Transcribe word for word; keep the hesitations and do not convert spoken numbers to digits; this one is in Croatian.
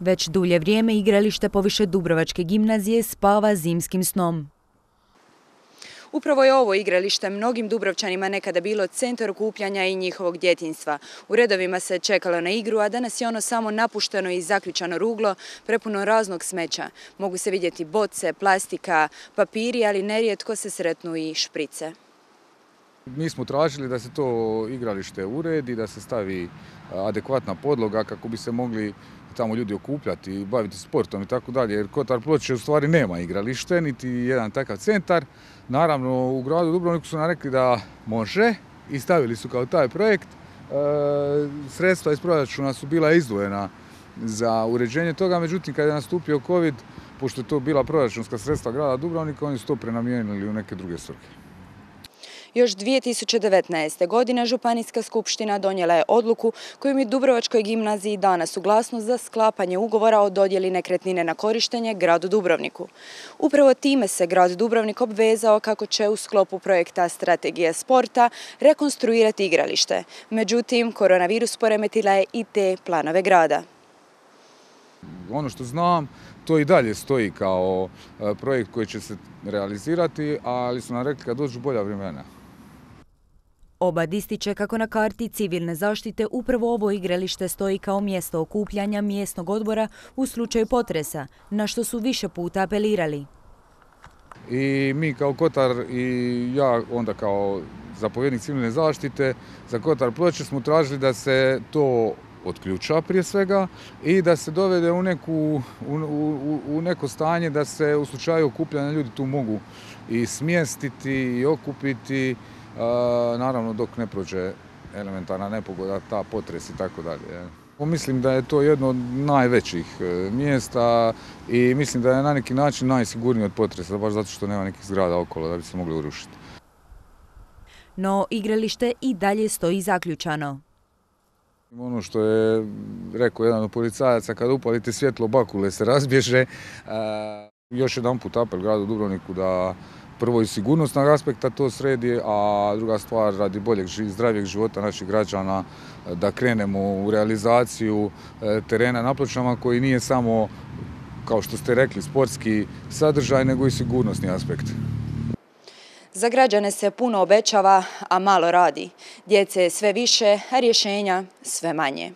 Već dulje vrijeme igralište poviše Dubrovačke gimnazije spava zimskim snom. Upravo je ovo igralište mnogim Dubrovčanima nekada bilo centar okupljanja i njihovog djetinjstva. U redovima se čekalo na igru, a danas je ono samo napušteno i zaključano ruglo, prepuno raznog smeća. Mogu se vidjeti boce, plastika, papiri, ali nerijetko se sretnu i šprice. Mi smo tražili da se to igralište uredi, da se stavi adekvatna podloga kako bi se mogli tamo ljudi okupljati i baviti sportom i tako dalje, jer Kotar Ploče u stvari nema igralište, niti jedan takav centar. Naravno, u gradu Dubrovniku su nam rekli da može i stavili su kao taj projekt. E, sredstva iz proračuna su bila izdvojena za uređenje toga, međutim kad je nastupio COVID, pošto je to bila proračunska sredstva grada Dubrovnika, oni su to prenamijenili u neke druge svrhe. Još dvije tisuće devetnaeste. godine Županijska skupština donijela je odluku kojom je Dubrovačkoj gimnaziji dana suglasnost za sklapanje ugovora o dodjeli nekretnine na korištenje gradu Dubrovniku. Upravo time se grad Dubrovnik obvezao kako će u sklopu projekta Strategije sporta rekonstruirati igralište. Međutim, koronavirus poremetila je i te planove grada. Ono što znam, to i dalje stoji kao projekt koji će se realizirati, ali su nam rekli kad dođu bolja vremena. Obad ističe kako na karti civilne zaštite upravo ovo igralište stoji kao mjesto okupljanja mjesnog odbora u slučaju potresa, na što su više puta apelirali. I mi kao Kotar i ja onda kao zapovjednik civilne zaštite za Kotar Ploče smo tražili da se to otključa prije svega i da se dovede u, neku, u, u, u neko stanje da se u slučaju okupljanja ljudi tu mogu i smjestiti i okupiti, a, naravno dok ne prođe elementarna nepogoda, ta potres i tako dalje. Mislim da je to jedno od najvećih mjesta i mislim da je na neki način najsigurnije od potresa, baš zato što nema nekih zgrada okolo da bi se mogli urušiti. No igralište i dalje stoji zaključano. Ono što je rekao jedan od policajaca, kada upalite svjetlo, bakule se razbježe. E, još jedan put apel gradu Dubrovniku da prvo iz sigurnosnog aspekta to sredi, a druga stvar radi boljeg, zdravijeg života naših građana, da krenemo u realizaciju terena na Pločama koji nije samo, kao što ste rekli, sportski sadržaj, nego i sigurnosni aspekt. Za građane se puno obećava, a malo radi. Djece je sve više, a rješenja sve manje.